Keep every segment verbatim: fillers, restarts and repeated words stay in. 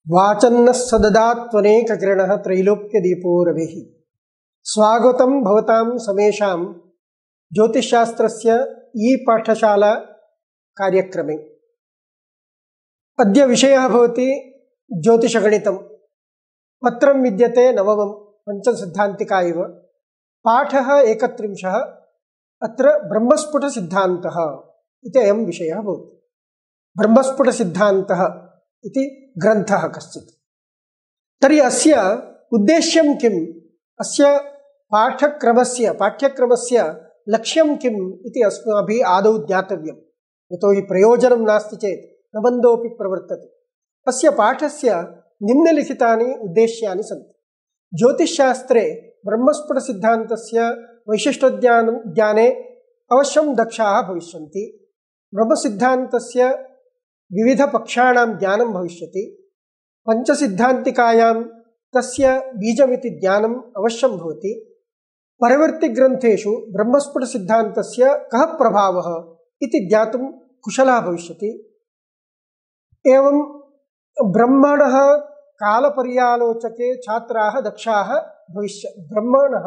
वाचन्नः सददात्वनेककिरणः त्रैलोक्यदीपो रविः। स्वागतं भवतां समेषां ज्योतिषशास्त्रस्य ई पाठशाला कार्यक्रमे। अद्य विषयः भवति ज्योतिषगणितं। पत्रं विद्यते नवमं पञ्चमसिद्धान्तिका इव। पाठः एकत्रिंशः। अत्र ब्रह्मस्फुटसिद्धान्तः इति अयं विषयः भवति। ब्रह्मस्फुटसिद्धान्तः इति ग्रन्थः कश्चित्। तर्हि अस्य उद्देश्यं किम्, अस्य पाठक्रमस्य पाठ्यक्रमस्य लक्ष्यं किम् इति अस्माभिः आदौ ज्ञातव्यं। यतोहि प्रयोजनं नास्ति चेत् न बन्धोऽपि प्रवर्तते। अस्य पाठस्य निम्नलिखितानि उद्देश्यानि सन्ति। ज्योतिषशास्त्रे ब्रह्मस्फुटसिद्धान्तस्य वैशिष्ट्यज्ञानं ज्ञाने अवश्यं दक्षाः भविष्यन्ति। ब्रह्मसिद्धान्तस्य विविधपक्षाणां ज्ञानं भविष्यति। पञ्चसिद्धान्तिकायां तस्य बीजमिति ज्ञानम् अवश्यं भवति। परवर्तिग्रन्थेषु ब्रह्मस्फुटसिद्धान्तस्य कः प्रभावः इति ज्ञातुं कुशलः भविष्यति। एवं ब्रह्मणः कालपर्यालोचके छात्राः दक्षाः भविष्य ब्रह्मणः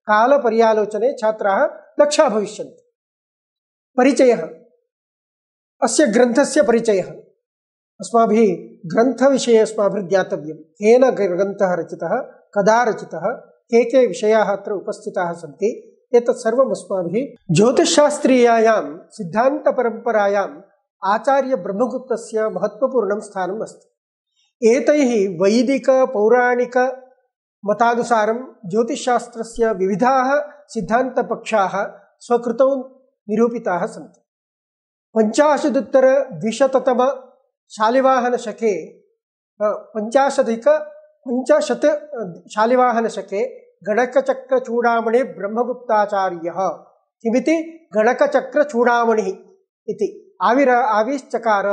कालपर्यालोचने छात्राः दक्षाः भविष्यन्ति। परिचयः, अस्य ग्रन्थस्य परिचयः। अस्माभिः ग्रन्थविषये अस्माभिः ज्ञातव्यं। केन ग्रन्थः रचितः, कदा रचितः, के के विषयाः अत्र उपस्थिताः सन्ति, एतत् सर्वम् अस्माभिः ज्योतिषशास्त्रीयायां सिद्धान्तपरम्परायाम् आचार्यब्रह्मगुप्तस्य महत्त्वपूर्णं स्थानम् अस्ति। एतैः वैदिकपौराणिकमतानुसारं ज्योतिषशास्त्रस्य विविधाः सिद्धान्तपक्षाः स्वकृतौ निरूपिताः सन्ति। पञ्चाशदुत्तरद्विशततम शालिवाहनशके पञ्चाशधिक पञ्चाशत् शालिवाहनशके गणकचक्रचूडामणि ब्रह्मगुप्ताचार्यः किमिति गणकचक्रचूडामणिः इति आविर आविश्चकार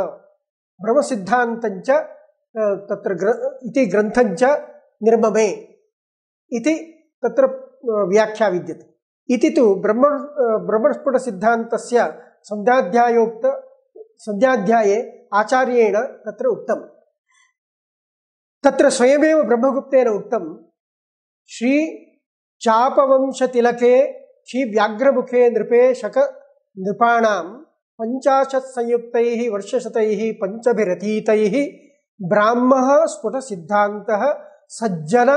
ब्रह्मसिद्धान्तञ्च तत्र ग्र इति ग्रन्थञ्च निर्ममे इति तत्र व्याख्या विद्यते। इति तु ब्रह्म ब्रह्मस्फुटसिद्धान्तस्य संध्याध्यायोक्त संध्याध्याये आचार्येण तत्र उक्तं। तत्र स्वयमेव ब्रह्मगुप्तेन उक्तं, श्री चापवंशतिलके श्री व्याघ्रमुखे नृपे शक नृपाणां पञ्चाशत् संयुक्तैः वर्षशतैः पञ्चभिरतीतैः ब्राह्मः स्फुटसिद्धान्तः सज्जन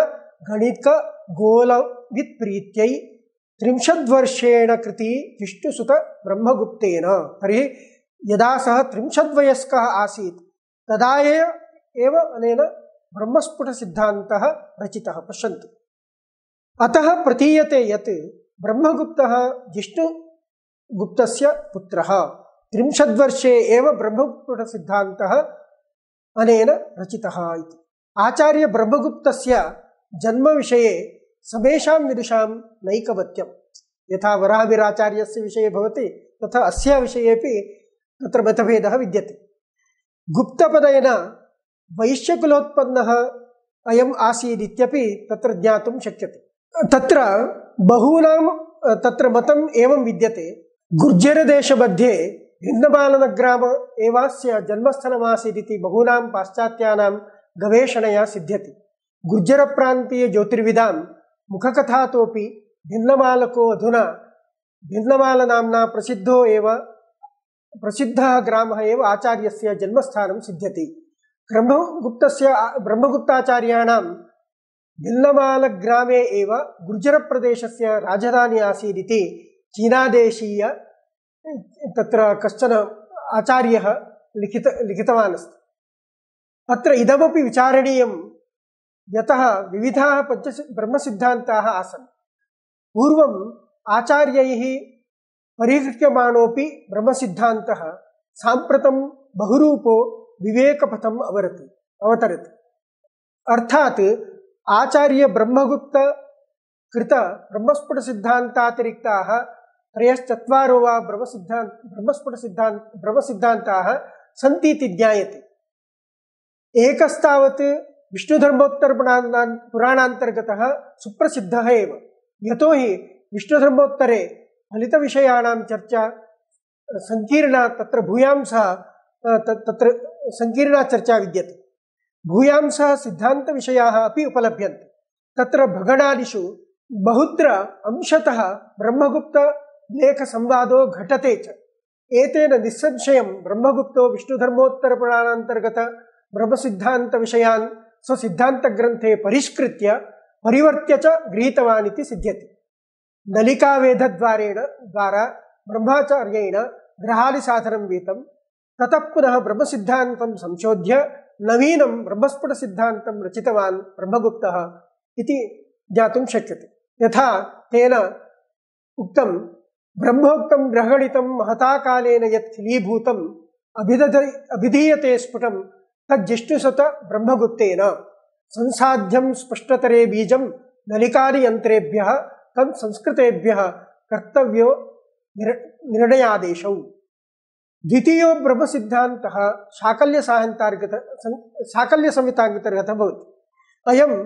गणिक गोलवित्प्रीत्यै त्रिंशद्वर्षेण कृति विष्णुसुत ब्रह्मगुप्तेन। तर्हि यदा सः त्रिंशद्वयस्कः आसीत् तदा एव अनेन ब्रह्मस्फुटसिद्धान्तः रचितः। पश्यन्तु, अतः प्रतीयते यत् ब्रह्मगुप्तः जिष्णुगुप्तस्य पुत्रः। त्रिंशद्वर्षे एव ब्रह्मस्फुटसिद्धान्तः अनेन रचितः इति। आचार्यब्रह्मगुप्तस्य जन्मविषये समेषां विदुषां नैकमत्यं। यथा वराहमिहिराचार्यस्य विषये भवति तथा अस्य विषयेपि तत्र मतभेदः विद्यते। गुप्तपदेन वैश्यकुलोत्पन्नः अयम् आसीदित्यपि तत्र ज्ञातुं शक्यते। तत्र बहूनां तत्र मतम् एवं विद्यते। गुर्जरदेशमध्ये भिन्नमालनग्राम एवास्य जन्मस्थलमासीदिति बहूनां पाश्चात्यानां गवेषणया सिद्ध्यति। गुर्जरप्रान्तीयज्योतिर्विदां मुखकथातोपि भिन्नमालको अधुना भिन्नमालनाम्ना प्रसिद्धो एव प्रसिद्धः ग्रामः एव आचार्यस्य जन्मस्थानं सिद्ध्यति। ब्रह्मगुप्तस्य ब्रह्मगुप्ताचार्याणां भिन्नमालग्रामे एव गुर्जरप्रदेशस्य राजधानी आसीदिति चीनादेशीय तत्र कश्चन आचार्यः लिखित लिखितवान् अस्ति। अत्र इदमपि विचारणीयं, यतः विविधाः पञ्च ब्रह्मसिद्धान्ताः आसन्। पूर्वम् आचार्यैः परिहृत्यमाणोऽपि ब्रह्मसिद्धान्तः साम्प्रतं बहुरूपो विवेकपथम् अवरति अवतरति। अर्थात् आचार्यब्रह्मगुप्त कृत ब्रह्मस्फुटसिद्धान्तातिरिक्ताः त्रयश्चत्वारो वा ब्रह्मसिद्धान्त ब्रह्मस्फुटसिद्धान्त ब्रह्मसिद्धान्ताः सन्ति इति ज्ञायते। एकस्तावत् विष्णुधर्मोत्तरपुराणान्तर्गतः सुप्रसिद्धः एव। यतोहि विष्णुधर्मोत्तरे फलितविषयाणां चर्चा संकीर्णा, तत्र भूयांसः तत्र संकीर्णा चर्चा विद्यते। भूयांसः सिद्धान्तविषयाः अपि उपलभ्यन्ते। तत्र भगणादिषु बहुत्र अंशतः ब्रह्मगुप्तलेखसंवादो घटते च। एतेन निस्संशयं ब्रह्मगुप्तो विष्णुधर्मोत्तरपुराणान्तर्गत ब्रह्मसिद्धान्तविषयान् स्वसिद्धान्तग्रन्थे परिष्कृत्य परिवर्त्य च गृहीतवान् इति सिद्ध्यति। नलिकावेदद्वारेण द्वारा ब्रह्माचार्येण ग्रहादिसाधनं वीतं, ततः पुनः ब्रह्मसिद्धान्तं संशोध्य नवीनं ब्रह्मस्फुटसिद्धान्तं रचितवान् ब्रह्मगुप्तः इति ज्ञातुं शक्यते। यथा तेन उक्तं, ब्रह्मोक्तं ग्रहगणितं महता कालेन यत् खिलीभूतम् अभिदध अभिधीयते स्फुटं तज्जिष्णुसत ब्रह्मगुप्तेन संसाध्यं स्पष्टतरे बीजं नलिकादियन्त्रेभ्यः तत् संस्कृतेभ्यः कर्तव्यो निर्णयादेशौ। द्वितीयो ब्रह्मसिद्धान्तः शाकल्यसाहन्तार्गत शाकल्यसंहितान्तर्गतः भवति। अयं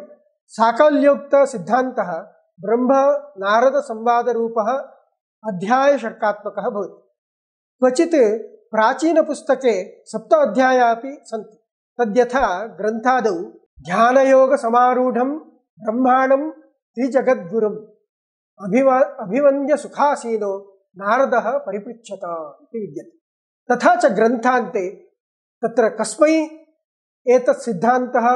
शाकल्योक्तसिद्धान्तः ब्रह्म नारद संवादरूपः अध्यायशर्कात्मकः भवति। क्वचित् प्राचीनपुस्तके सप्त अध्यायाः अपि सन्ति। तद्यथा ग्रन्थादौ ध्यानयोगसमारूढं ब्रह्माणं त्रिजगद्गुरुम् अभिव अभिवन्द्य सुखासीनो नारदः परिपृच्छत इति विद्यते। तथा च ग्रन्थान्ते तत्र कस्मै एतत् सिद्धान्तः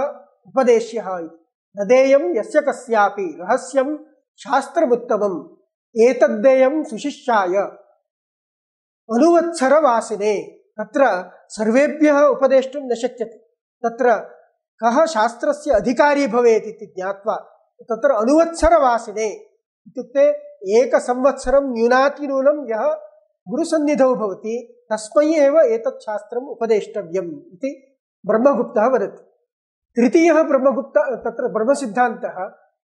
उपदेश्यः इति नदेयं यस्य कस्यापि रहस्यं शास्त्रमुत्तमम् एतद्देयं सुशिष्याय अनुवत्सरवासिने। तत्र सर्वेभ्यः उपदेष्टुं न शक्यते। तत्र कः शास्त्रस्य अधिकारी भवेत् इति ज्ञात्वा तत्र अनुवत्सरवासिने इत्युक्ते एकसंवत्सरं न्यूनातिन्यूनं यः गुरुसन्निधौ भवति तस्मै एव एतत् शास्त्रम् उपदेष्टव्यम् इति ब्रह्मगुप्तः वदति। तृतीयः ब्रह्मगुप्त तत्र ब्रह्मसिद्धान्तः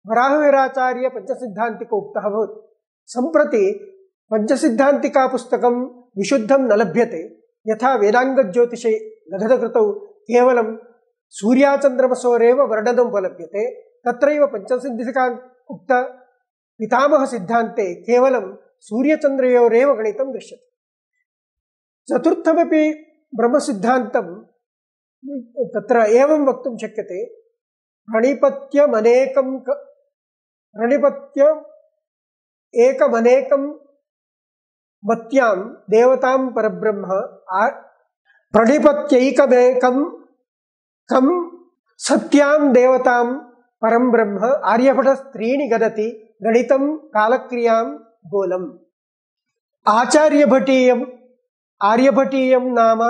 वराहवीराचार्य पञ्चसिद्धान्तिक उक्तः भवति। सम्प्रति पञ्चसिद्धान्तिका पुस्तकं विशुद्धं न लभ्यते। यथा वेदाङ्गज्योतिषे लघुकृतौ केवलं सूर्याचन्द्रमसोरेव वर्णनम् उपलभ्यते, तत्रैव पञ्चसिद्धान्तिका उक्त पितामहसिद्धान्ते केवलं सूर्यचन्द्रयोरेव गणितं दृश्यते। चतुर्थमपि ब्रह्मसिद्धान्तं तत्र एवं वक्तुं शक्यते, प्रणिपत्यमनेकं प्रणिपत्य एकमनेकं मत्यां देवतां परब्रह्म प्रणिपत्यैकमेकं कं सत्यां देवतां परं ब्रह्म आर्यभटस्त्रीणि गदति गणितं कालक्रियां गोलम्। आचार्यभटीयम् आर्यभटीयं नाम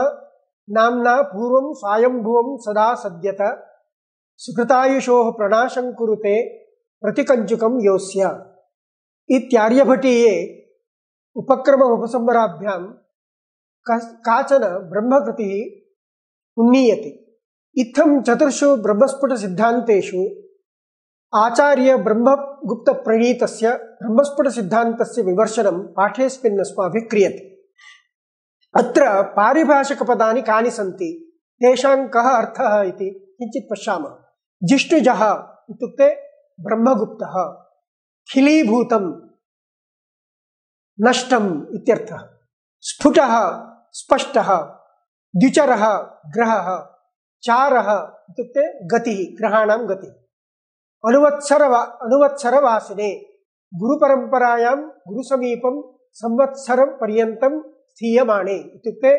नाम्ना पूर्वं स्वायंभुवं सदा सद्यत सुकृतायुषोः प्रणाशं कुरुते प्रतिकञ्चुकं योऽस्य इत्यार्यभटीये उपक्रम उपसंहाराभ्यां काचन ब्रह्मकृतिः उन्नीयते। इत्थं चतुर्षु ब्रह्मस्फुटसिद्धान्तेषु आचार्य ब्रह्मगुप्तप्रणीतस्य ब्रह्मस्फुटसिद्धान्तस्य विमर्शनं पाठेऽस्मिन् अस्माभिः क्रियते। अत्र पारिभाषिकपदानि कानि सन्ति, तेषां कः अर्थः इति किञ्चित् पश्यामः। जिष्णुजः इत्युक्ते ब्रह्मगुप्तः, खिलीभूतं नष्टम् इत्यर्थः, स्फुटः स्पष्टः, द्विचरः ग्रहः, चारः इत्युक्ते गतिः ग्रहाणां गतिः, अनुवत्सरवा अनुवत्सरवासिने गुरुपरम्परायां गुरुसमीपं संवत्सरं पर्यन्तं स्थीयमाणे इत्युक्ते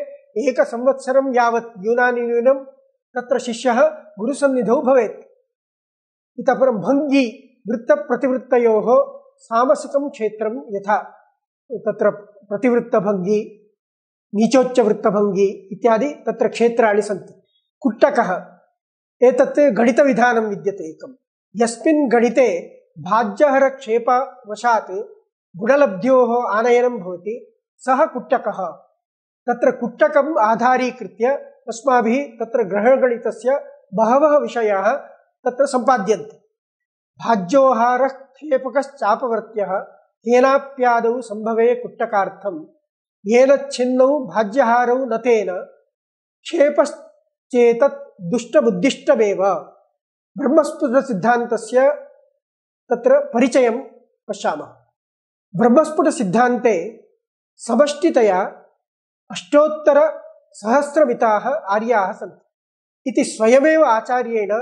एकसंवत्सरं यावत् न्यूनातिन्यूनं तत्र शिष्यः गुरुसन्निधौ भवेत्। इतः परं भङ्गी वृत्तप्रतिवृत्तयोः सामसिकं क्षेत्रं यथा तत्र प्रतिवृत्तभङ्गी नीचोच्चवृत्तभङ्गी इत्यादि तत्र क्षेत्राणि सन्ति। कुट्टकः एतत् गणितविधानं विद्यते एकं, यस्मिन् गणिते भाज्यहरक्षेपवशात् गुणलब्ध्योः आनयनं भवति, सः कुट्टकः। तत्र कुट्टकम् आधारीकृत्य अस्माभिः तत्र ग्रहगणितस्य बहवः विषयाः तत्र सम्पाद्यन्ते। भाज्योहारः क्षेपकश्चापवर्त्यः तेनाप्यादौ सम्भवे कुट्टकार्थं येन छिन्नौ भाज्यहारौ न तेन क्षेपश्चेतत् दुष्टमुद्दिष्टमेव। ब्रह्मस्फुटसिद्धान्तस्य तत्र परिचयं पश्यामः। ब्रह्मस्फुटसिद्धान्ते समष्टितया अष्टोत्तरसहस्रमिताः आर्याः सन्ति। इति स्वयमेव आचार्येण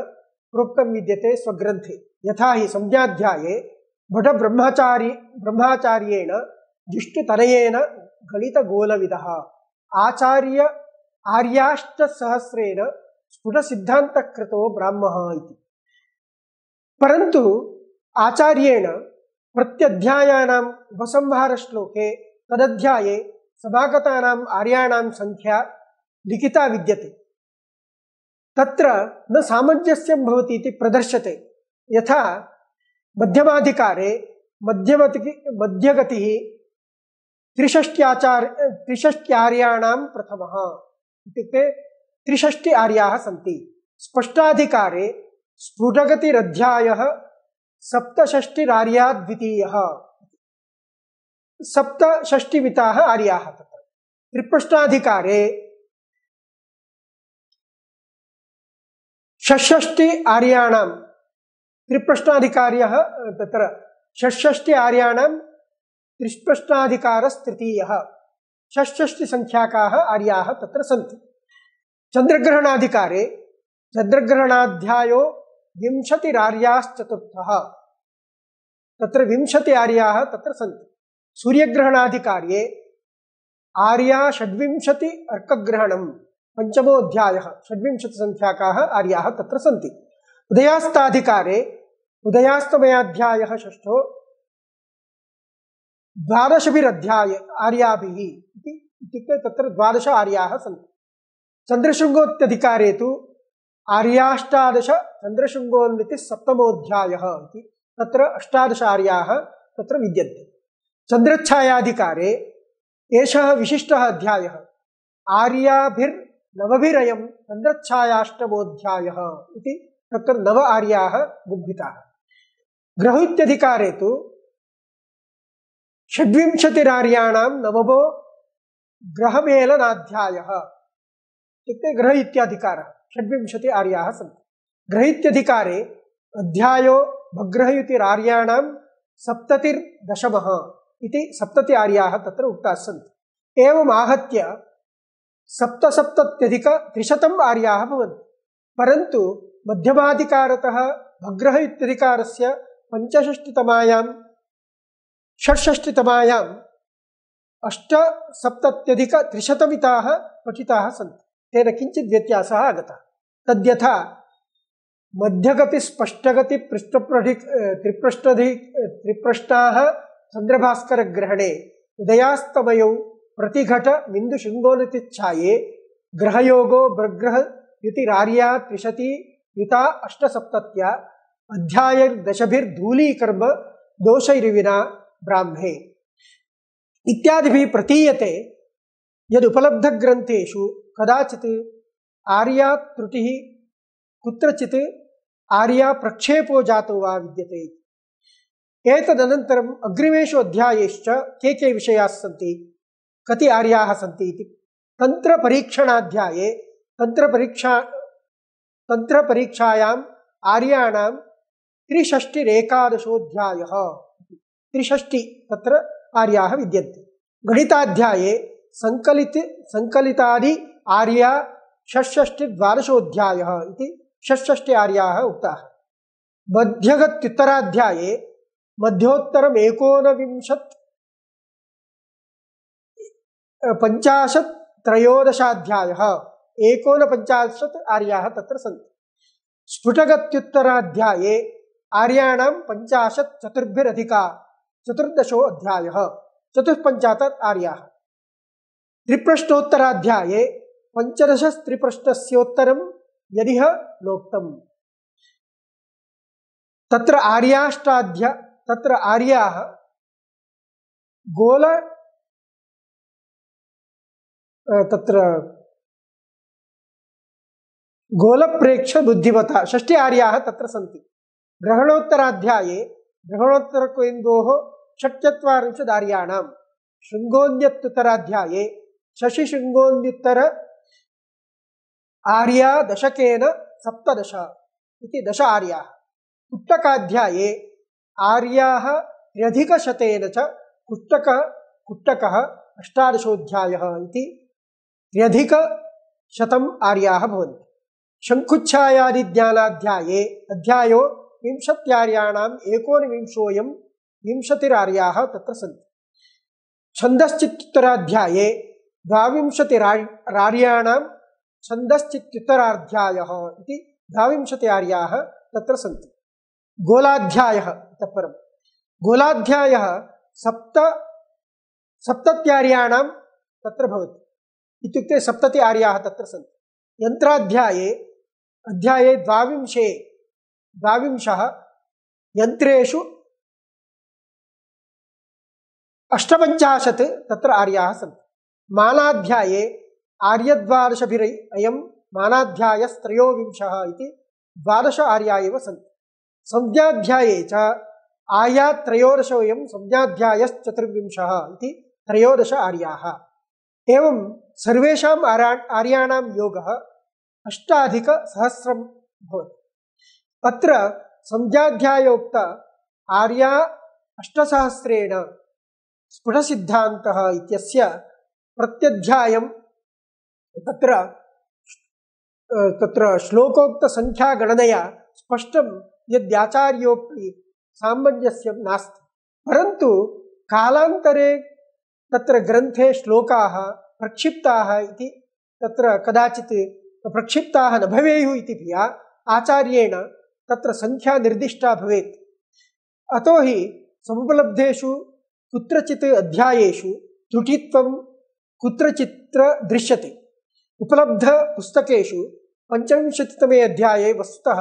प्रोक्तं विद्यते स्वग्रन्थे। यथा हि संज्ञाध्याये भटब्रह्मचारी ब्रह्माचार्येण जिष्टुतनयेन गणितगोलविदः आचार्य आर्याष्टसहस्रेण स्फुटसिद्धान्तकृतो ब्राह्मः इति। परन्तु आचार्येण प्रत्यध्यायानां उपसंहारश्लोके तदध्याये समागतानाम् आर्याणां संख्या लिखिता विद्यते। तत्र न सामञ्जस्यं भवति इति प्रदर्श्यते। यथा मध्यमाधिकारे मध्यमति मध्यगतिः त्रिषष्ट्याचार्य त्रिषष्ट्यार्याणां प्रथमः इत्युक्ते त्रिषष्टि आर्याः सन्ति। स्पष्टाधिकारे स्फुटगतिरध्यायः सप्तषष्टिरार्या द्वितीयः सप्तषष्टिमिताः आर्याः तत्र। त्रिप्रश्नाधिकारे षट्षष्टि आर्याणां त्रिप्रश्नाधिकार्यः तत्र षट्षष्टि आर्याणां त्रिप्रश्नाधिकारस्तृतीयः षट्षष्टि संख्याकाः आर्याः तत्र सन्ति। चन्द्रग्रहणाधिकारे चन्द्रग्रहणाध्यायो विंशतिरार्याश्चतुर्थः तत्र विंशति आर्याः तत्र सन्ति। सूर्यग्रहणाधिकार्ये आर्या षड्विंशति अर्कग्रहणं पंचमोऽध्यायः षड्विंशति संख्याकाः आर्याः तत्र सन्ति। उदयास्ताधिकारे उदयास्तमयाध्यायः षष्ठो द्वादशभिरध्याय आर्याभिः इत्युक्ते तत्र द्वादश आर्याः सन्ति। चन्द्रशृङ्गोत्यधिकारे तु आर्याष्टादश चन्द्रशृङ्गोन्नतिः सप्तमोऽध्यायः इति तत्र अष्टादश आर्याः तत्र विद्यन्ते। चन्द्रच्छायाधिकारे एषः विशिष्टः अध्यायः आर्याभिर्नवभिरयं चन्द्रच्छायाष्टमोऽध्यायः इति तत्र नव आर्याः बुद्धिताः। ग्रहैत्यधिकारे तु षड्विंशतिरार्याणां नवमो ग्रहमेलनाध्यायः इत्युक्ते ग्रह इत्याधिकारः षड्विंशति आर्याः सन्ति। ग्रहैत्यधिकारे अध्यायो भग्रहयुतिरार्याणां सप्ततिर्दशमः इति सप्तति आर्याः तत्र उक्ताः सन्ति। एवम् आहत्य सप्तसप्तत्यधिकत्रिशतम् आर्याः भवन्ति। परन्तु मध्यमाधिकारतः भग्रह इत्यधिकारस्य पञ्चषष्टितमायां षट्षष्टितमायाम् अष्टसप्तत्यधिकत्रिशतमिताः पठिताः सन्ति। तेन किञ्चित् व्यत्यासः आगतः। तद्यथा मध्यगति स्पष्टगति पृष्ठप्रधि त्रिपृष्ठधि त्रिपृष्ठाः चन्द्रभास्करग्रहणे उदयास्तमयौ प्रतिघट बिन्दुशृङ्गोन्नतिच्छाये ग्रहयोगो भग्रहयुतिरार्या त्रिशति युता अष्टसप्तत्या अध्यायदशभिर्धूलीकर्म दोषैर्विना ब्राह्मे इत्यादिभिः प्रतीयते यदुपलब्धग्रन्थेषु कदाचित् आर्या त्रुटिः कुत्रचित् आर्या प्रक्षेपो जातो वा विद्यते। एतदनन्तरम् अग्रिमेषु अध्यायेश्च के के विषयाः सन्ति, कति आर्याः सन्ति इति। तन्त्रपरीक्षणाध्याये तन्त्रपरीक्षा तन्त्रपरीक्षायाम् आर्याणां त्रिषष्टिरेकादशोऽध्यायः त्रिषष्टि तत्र आर्याः विद्यन्ते। गणिताध्याये संकलित संकलितादि आर्या षट्षष्टिद्वादशोऽध्यायः इति षट्षष्टि आर्याः उक्ताः। मध्यगत्युत्तराध्याये मध्योत्तरम् एकोनविंशत् पञ्चाशत् त्रयोदशाध्यायः एकोनपञ्चाशत् आर्याः तत्र सन्ति। स्फुटगत्युत्तराध्याये आर्याणां पञ्चाशत् चतुर्भिरधिका चतुर्दशो अध्यायः चतुष्पञ्चाशत् आर्याः। त्रिप्रश्नोत्तराध्याये पञ्चदशस्त्रिप्रश्नस्योत्तरं यदिह नोक्तम्। तत्र आर्याष्टाध्या तत्र आर्याः गोल तत्र गोलप्रेक्ष बुद्धिमता षष्टि आर्याः तत्र सन्ति। ग्रहणोत्तराध्याये ग्रहणोत्तरकेन्द्रोः षट्चत्वारिंशदार्याणां शृङ्गोन्यत्तराध्याये शशिशृङ्गोन्युत्तर आर्या दशकेन सप्तदश इति दश आर्याः। कुट्टकाध्याये आर्याः त्र्यधिकशतेन च कुट्टक कुट्टकः अष्टादशोऽध्यायः इति त्र्यधिकशतम् आर्याः भवन्ति। शङ्कुच्छायादि ज्ञानाध्याये अध्यायो विंशत्यार्याणाम् एकोनविंशोऽयं विंशतिरार्याः तत्र सन्ति। छन्दश्चित्तराध्याये द्वाविंशतिरार्याणां छन्दश्चित्तराध्यायः इति द्वाविंशति आर्याः तत्र सन्ति। गोलाध्यायः इतः परं गोलाध्यायः सप्त सप्तत्यार्याणां तत्र भवति, इत्युक्ते सप्तति आर्याः तत्र सन्ति। यन्त्राध्याये अध्याये द्वाविंशे द्वाविंशः यन्त्रेषु अष्टपञ्चाशत् तत्र आर्याः सन्ति। मानाध्याये आर्यद्वादशभिः अयं मानाध्यायस्त्रयोविंशः इति द्वादश आर्या एव सन्ति। संज्ञाध्याये च आर्यात्रयोदशोऽयं संज्ञाध्यायश्चतुर्विंशः इति त्रयोदश आर्याः। एवं सर्वेषाम् आर्याणां योगः अष्टाधिकसहस्रं भवति। अत्र संज्ञाध्यायोक्त आर्या अष्टसहस्रेण स्फुटसिद्धान्तः इत्यस्य प्रत्यध्यायं तत्र तत्र श्लोकोक्तसङ्ख्यागणनया स्पष्टं यद्याचार्योक्ति सामञ्जस्यं नास्ति, परन्तु कालान्तरे तत्र ग्रन्थे श्लोकाः प्रक्षिप्ताः इति तत्र कदाचित् प्रक्षिप्ताः न भवेयुः इति धिया आचार्येण तत्र संख्या निर्दिष्टा भवेत्। अतो हि समुपलब्धेषु कुत्रचित् अध्यायेषु त्रुटित्वं कुत्रचित्र दृश्यते। उपलब्धपुस्तकेषु पञ्चविंशतितमे अध्याये वस्तुतः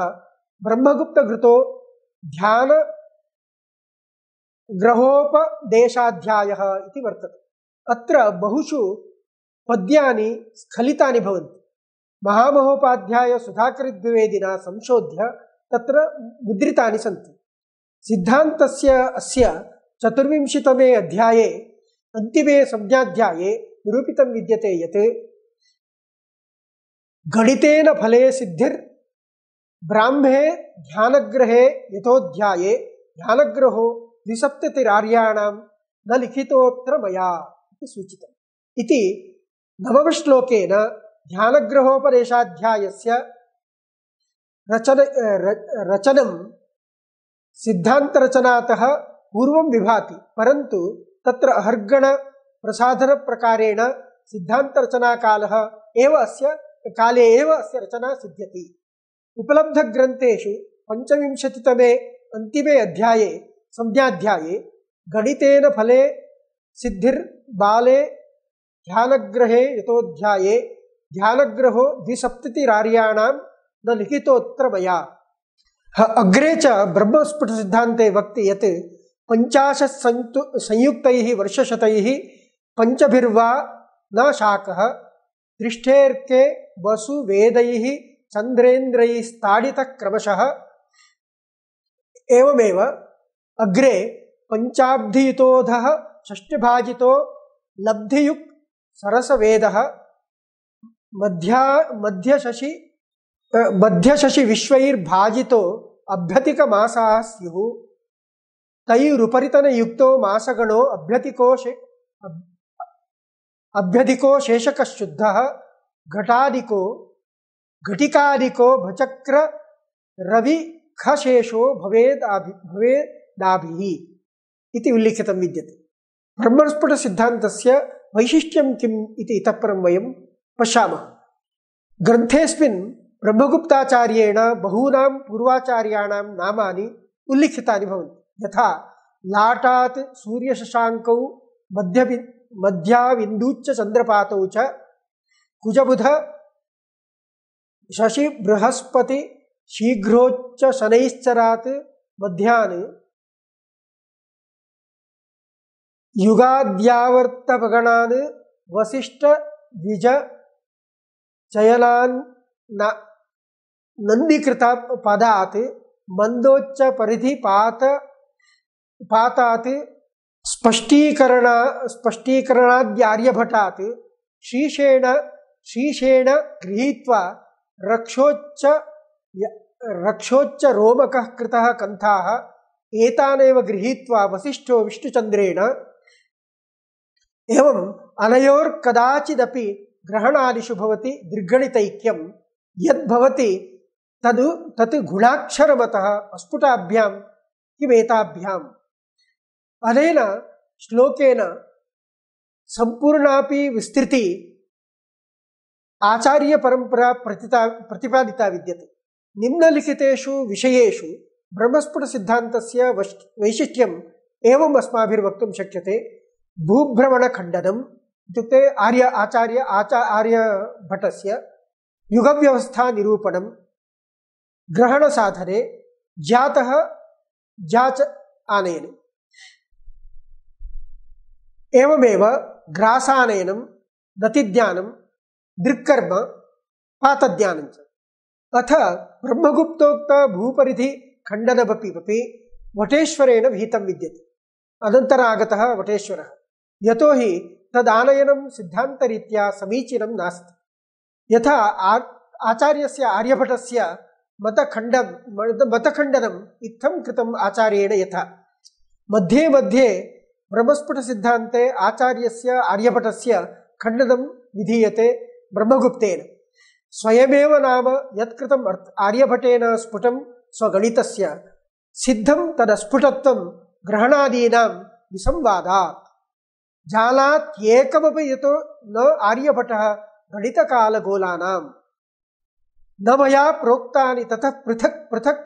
ब्रह्मगुप्तघृतो ध्यानग्रहोपदेशाध्यायः इति वर्तते। अत्र बहुषु पद्यानि स्खलितानि भवन्ति। महामहोपाध्यायसुधाकरद्विवेदिना संशोध्य तत्र मुद्रितानि सन्ति। सिद्धान्तस्य अस्य चतुर्विंशतितमे अध्याये अन्तिमे संज्ञाध्याये निरूपितं विद्यते यत् गणितेन फले सिद्धिर् ब्राह्मे ध्यानग्रहे यथोध्याये ध्यानग्रहो द्विसप्ततिरार्याणां न लिखितोऽत्र मया इति सूचितम्। इति नवमश्लोकेन ध्यानग्रहोपदेशाध्यायस्य रचन रचनं सिद्धान्तरचनातः पूर्वं विभाति, परन्तु तत्र अहर्गण प्रसाधनप्रकारेण सिद्धान्तरचनाकालः एव अस्य काले एव अस्य रचना सिद्ध्यति। उपलब्धग्रन्थेषु पञ्चविंशतितमे अन्तिमे अध्याये संज्ञाध्याये गणितेन फले सिद्धिर् बाले ध्यानग्रहे यतोध्याये ध्यानग्रहो द्विसप्ततिरार्याणां न लिखितोऽत्र मया। अग्रे च ब्रह्मस्फुटसिद्धान्ते वक्ति यत् पञ्चाशत् संयुक्तैः वर्षशतैः पञ्चभिर्वा न शाकः दृष्टेऽर्के वसुवेदैः चन्द्रेन्द्रैस्ताडितः क्रमशः। एवमेव अग्रे पञ्चाब्धियुतोऽधः षष्ठभाजितो लब्धियुक् सरसवेदः मध्या मध्यशशि मध्यशशि विश्वैर्भाजितो अभ्यतिकमासाः स्युः तैरुपरितनयुक्तो मासगणो अभ्यतिको अभ्यधिको शेषकशुद्धः घटादिको घटिकादिको भचक्र रवि खशेषो भवेदाभि भवेदाभिः इति उल्लिखितं विद्यते। ब्रह्मस्फुटसिद्धान्तस्य वैशिष्ट्यं किम् इति इतः परं वयं पश्यामः। ग्रन्थेऽस्मिन् ब्रह्मगुप्ताचार्येण बहूनां पूर्वाचार्याणां नामानि उल्लिखितानि भवन्ति, यथा लाटात् सूर्यशशाङ्कौ मध्य मध्याविन्दूच्च चन्द्रपातौ च कुजबुध शशि बृहस्पति शीघ्रोच्च शनैश्चरात् मध्यान् युगाद्यावर्तपगणान् वसिष्ठ द्विज चयनान् नन्दीकृत पदात् मंदोच्च परिधि पात पातात् स्पष्टीकरण स्पष्टीकरणाद्यार्यभटात् शीशेण शीशेण गृहीत्वा रक्षोच्च रक्षोच्च रोमकः कृतः कन्थाः एतानेव गृहीत्वा वसिष्ठो विष्णुचन्द्रेण एवं अनयोर्कदाचिदपि ग्रहणादिषु भवति दृग्गणितैक्यं यद्भवति तद् तत् गुणाक्षरमतः अस्फुटाभ्यां किमेताभ्याम्। अनेन श्लोकेन सम्पूर्णापि विस्तृति आचार्य परंपरा प्रतिता प्रतिपादिता विद्यते। निम्नलिखितेषु विषयेषु ब्रह्मस्फुट सिद्धान्तस्य वैशिष्ट्यम् एवम् अस्माभिर्वक्तुं शक्यते। भूभ्रमण खण्डनम् इत्युक्ते आर्य आचार्य आचा आर्यभटस्य युगव्यवस्था निरूपणं, ग्रहण साधने जातः जाच आनयन, एवमेव ग्रासानयनं, दतिज्ञानं, दृक्कर्म, पातज्ञानं च। अथ ब्रह्मगुप्तोक्त भूपरिधि खण्डनमपि अपि वटेश्वरेण विहितं विद्यते। अनन्तरागतः वटेश्वरः, यतो हि तदानयनं सिद्धान्तरीत्या समीचीनं नास्ति। यथा आचार्यस्य आर्यभटस्य मतखण्डं मतखण्डनम् इत्थं कृतम् आचार्येण यथा। मध्ये मध्ये ब्रह्मस्फुटसिद्धान्ते आचार्यस्य आर्यभटस्य खण्डनं विधीयते ब्रह्मगुप्तेन। स्वयमेव नाम यत्कृतम् आर्यभटेन स्फुटं स्वगणितस्य सिद्धं तदस्फुटत्वं ग्रहणादीनां विसंवादात्। जानात् एकमपि यतो न आर्यभटः गणितकालगोलानां न मया प्रोक्तानि ततः पृथक् पृथक्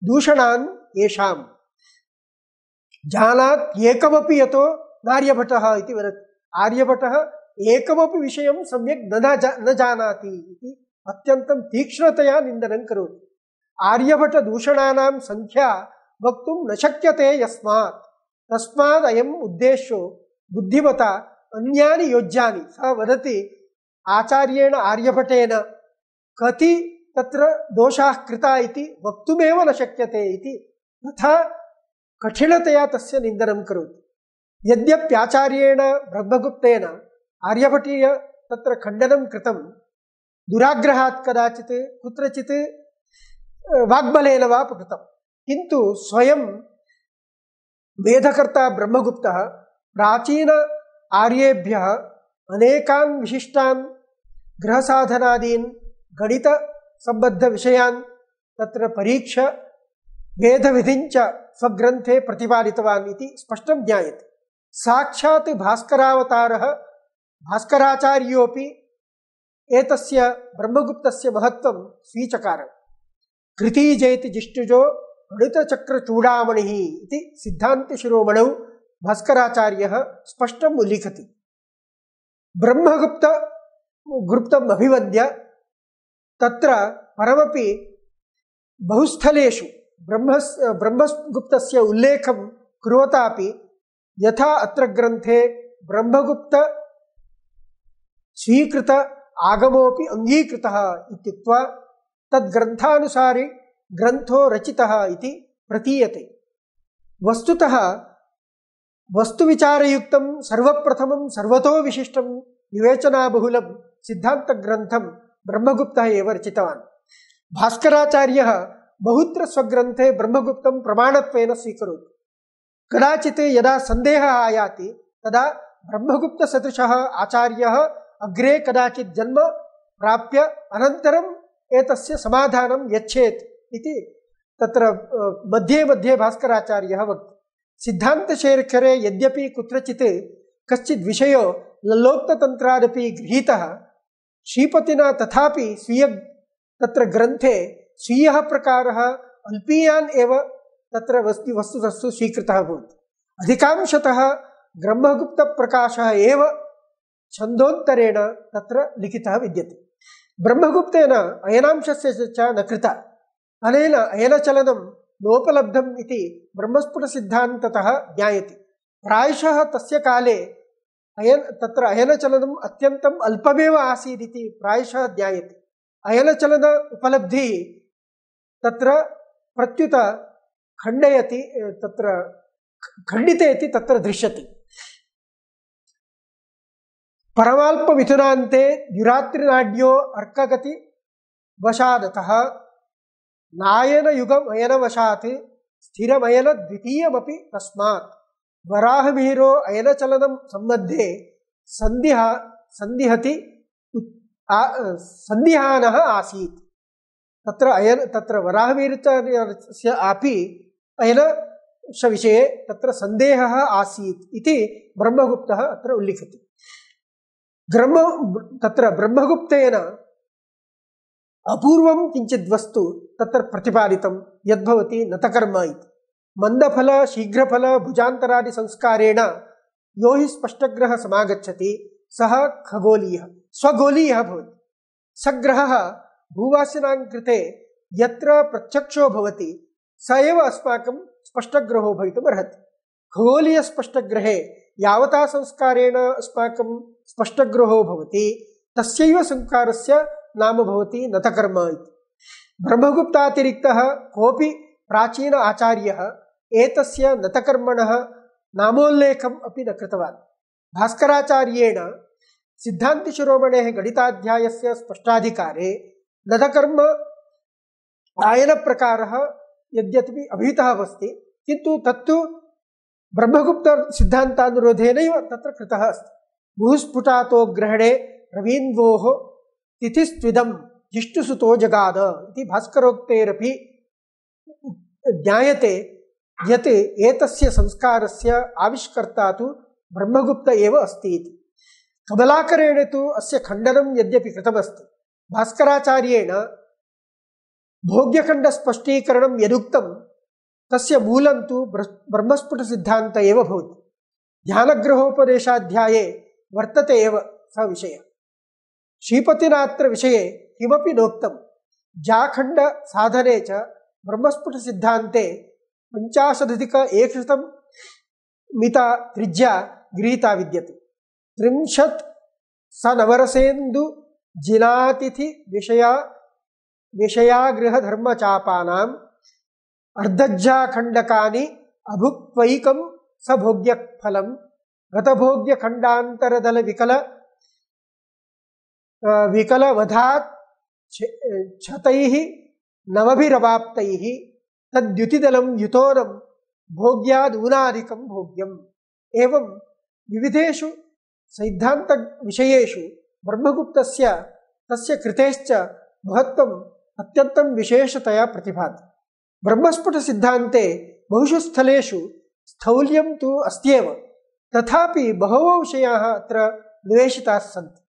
दूषणान् येषाम्। जानात् एकमपि यतो नार्यभटः इति वदति। आर्यभटः एकमपि विषयं सम्यक् न न जानाति इति अत्यन्तं तीक्ष्णतया निन्दनं करोति। आर्यभटदूषणानां संख्या वक्तुं न शक्यते यस्मात् तस्मात् अयम् उद्देश्यो बुद्धिमता अन्यानि योज्यानि। सः वदति आचार्येण आर्यभटेन कति तत्र दोषाः कृता इति वक्तुमेव न शक्यते इति तथा कठिनतया तस्य निन्दनं करोति। यद्यप्याचार्येण ब्रह्मगुप्तेन आर्यभटीय तत्र खण्डनं कृतं दुराग्रहात् कदाचित् कुत्रचित् वाग्बलेन वा कृतं, किन्तु स्वयं वेदकर्ता ब्रह्मगुप्तः प्राचीन आर्येभ्यः अनेकान् विशिष्टान् ग्रहसाधनादीन् गणितसम्बद्धविषयान् तत्र परीक्ष्य वेदविधिञ्च स्वग्रन्थे प्रतिपादितवान् इति स्पष्टं ज्ञायते। साक्षात् भास्करावतारः भास्कराचार्योऽपि एतस्य ब्रह्मगुप्तस्य महत्त्वं स्वीचकार। कृतीजेति जिष्टुजो गणितचक्रचूडामणिः इति सिद्धान्तशिरोमणौ भास्कराचार्यः स्पष्टम् उल्लिखति। ब्रह्मगुप्त गुप्तम् अभिवद्य तत्र परमपि बहुस्थलेषु ब्रह्मस् ब्रह्मगुप्तस्य उल्लेखं कुर्वतापि यथा अत्र ग्रन्थे ब्रह्मगुप्त स्वीकृत आगमोऽपि अङ्गीकृतः इत्युक्त्वा तद्ग्रन्थानुसारि ग्रन्थो रचितः इति प्रतीयते। वस्तुतः वस्तुविचारयुक्तं सर्वप्रथमं सर्वतो विशिष्टं विवेचनाबहुलं सिद्धान्तग्रन्थं ब्रह्मगुप्तः एव रचितवान्। भास्कराचार्यः बहुत्र स्वग्रन्थे ब्रह्मगुप्तं प्रमाणत्वेन स्वीकरोति। कदाचित् यदा सन्देहः आयाति तदा ब्रह्मगुप्तसदृशः आचार्यः अग्रे कदाचित् जन्म प्राप्य अनन्तरम् एतस्य समाधानं यच्छेत् इति तत्र मध्ये मध्ये भास्कराचार्यः वक्ति। सिद्धान्तशेखरे यद्यपि कुत्रचित् कश्चित् विषयो लल्लोक्ततन्त्रादपि गृहीतः, श्रीपतिना तथापि स्वीय तत्र ग्रन्थे स्वीयः प्रकारः अल्पीयान् एव तत्र वस्तु वस्तुतस्तु स्वीकृतः भवति। अधिकांशतः ब्रह्मगुप्तप्रकाशः एव छन्दोत्तरेण तत्र लिखितः विद्यते। ब्रह्मगुप्तेन अयनांशस्य च न कृता। अनेन अयनचलनं नोपलब्धम् इति ब्रह्मस्फुटसिद्धान्ततः ज्ञायते। प्रायशः तस्य काले अयन तत्र अयनचलनम् अत्यन्तम् अल्पमेव आसीदिति प्रायशः ज्ञायते। अयनचलन उपलब्धिः तत्र प्रत्युत खण्डयति तत्र खण्डिते इति तत्र दृश्यते। परमाल्पमिथुनान्ते द्युरात्रिनाड्यो अर्कगति वशादतः नायनयुगम् अयनवशात् स्थिरमयन द्वितीयमपि तस्मात् वराहमिहिरो अयनचलनं सम्बद्धे सन्दिह सन्दिहति सन्दिहानः आसीत्। तत्र अयन तत्र वराहमिहिराचार्यस्य अपि अयनस्य विषये तत्र सन्देहः आसीत् इति ब्रह्मगुप्तः अत्र उल्लिखति। ब्रह्म तत्र ब्रह्मगुप्तेन अपूर्वं किञ्चित् वस्तु तत्र प्रतिपादितं यद्भवति नतकर्म इति। मंदफल शीघ्रफल भुजान्तरादि संस्कारेण यो हि स्पष्टग्रह समागच्छति सः खगोलीयः स्वगोलीयः भवति। सग्रहः भूवासिनां कृते यत्र प्रत्यक्षो भवति स एव अस्माकं स्पष्टग्रहो भवितुम् अर्हति। खगोलीय स्पष्टग्रहे यावता संस्कारेण अस्माकं स्पष्टग्रहो भवति तस्यैव संस्कारस्य नाम भवति नतकर्म इति। ब्रह्मगुप्तातिरिक्तः कोऽपि प्राचीन आचार्यः एतस्य नतकर्मणः नामोल्लेखम् अपि न कृतवान्। भास्कराचार्येण सिद्धान्तिशिरोमणेः गणिताध्यायस्य स्पष्टाधिकारे नतकर्म आयनप्रकारः यद्यपि अभिहितः अस्ति किन्तु तत्तु ब्रह्मगुप्तसिद्धान्तानुरोधेनैव तत्र कृतः अस्ति। भूस्फुटातो ग्रहणे रवीन्द्वोः तिथिस्त्विदं जिष्णुसुतो जगाद इति भास्करोक्तेरपि ज्ञायते यत् एतस्य संस्कारस्य आविष्कर्ता तु ब्रह्मगुप्त एव अस्ति इति। कमलाकरेण तु अस्य खण्डनं यद्यपि कृतमस्ति भास्कराचार्येण भोग्यखण्डस्पष्टीकरणं यदुक्तं तस्य मूलं तु ब्रह्मस्फुटसिद्धान्त एव भवति। ध्यानग्रहोपदेशाध्याये वर्तते एव स विषयः। श्रीपतिनात्र विषये किमपि नोक्तं। जाखण्ड साधने च ब्रह्मस्फुटसिद्धान्ते पञ्चाशदधिक एकशतं मिता त्रिज्या गृहीता विद्यते। त्रिंशत् सनवरसेन्दु जिनातिथि विषया विषयागृहधर्मचापानाम् अर्धज्जाखण्डकानि अभुक्त्वैकं सभोग्यफलं गतभोग्यखण्डान्तरदल विकल विकलवधात् क्षतैः नवभिरवाप्तैः तद्युतिदलं युतोनं भोग्यादूनादिकं भोग्यम्। एवं विविधेषु सिद्धान्त विषयेषु ब्रह्मगुप्तस्य तस्य कृतेश्च महत्त्वम् अत्यन्तं विशेषतया प्रतिभाति। ब्रह्मस्फुटसिद्धान्ते बहुषु स्थलेषु स्थौल्यं तु अस्त्येव, तथापि बहवो विषयाः अत्र निवेशिताः सन्ति।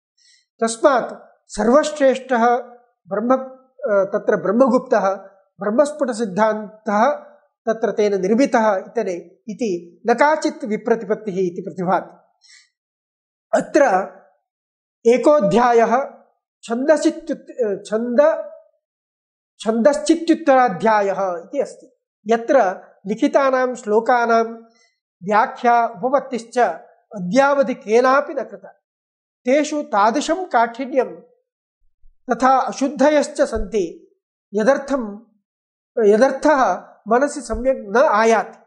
तस्मात् सर्वश्रेष्ठः ब्रह्म तत्र ब्रह्मगुप्तः ब्रह्मस्फुटसिद्धान्तः तत्र तेन निर्मितः इतने इति न काचित् विप्रतिपत्तिः इति प्रतिभाति। अत्र एकोऽध्यायः छन्दश्चित्युत् छन्द छन्दश्चित्युत्तराध्यायः इति अस्ति, यत्र लिखितानां श्लोकानां व्याख्या उपपत्तिश्च अद्यावधि केनापि न कृता। तेषु तादृशं काठिन्यं तथा अशुद्धयश्च सन्ति यदर्थं यदर्थः मनसि सम्यक् न आयाति।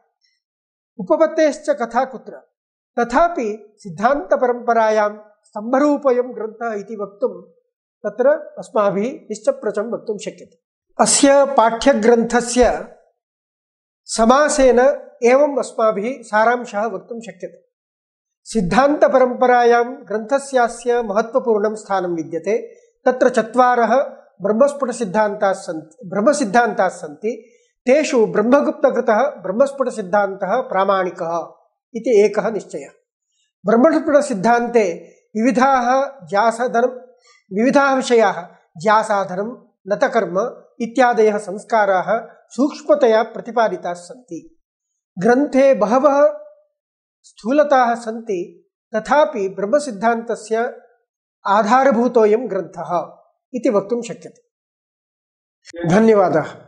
उपपत्तेश्च कथा कुत्र, तथापि सिद्धान्तपरम्परायां स्तम्भरूपयं ग्रन्थः इति वक्तुं तत्र अस्माभिः निश्चप्रचं वक्तुं शक्यते। अस्य पाठ्यग्रन्थस्य समासेन एवम् अस्माभिः सारांशः वक्तुं शक्यते। सिद्धान्तपरम्परायां ग्रन्थस्यास्य महत्त्वपूर्णं स्थानं विद्यते। तत्र चत्वारः ब्रह्मस्फुटसिद्धान्ताः सन्ति ब्रह्मसिद्धान्ताः सन्ति। तेषु ब्रह्मगुप्तकृतः ब्रह्मस्फुटसिद्धान्तः प्रामाणिकः इति एकः निश्चयः। ब्रह्मस्फुटसिद्धान्ते विविधाः ज्यासाधनं विविधाः विषयाः ज्यासाधनं नतकर्म इत्यादयः संस्काराः सूक्ष्मतया प्रतिपादिताः सन्ति। ग्रन्थे बहवः स्थूलताः सन्ति, तथापि ब्रह्मसिद्धान्तस्य आधारभूतोऽयं ग्रन्थः इति वक्तुं शक्यते। धन्यवादः।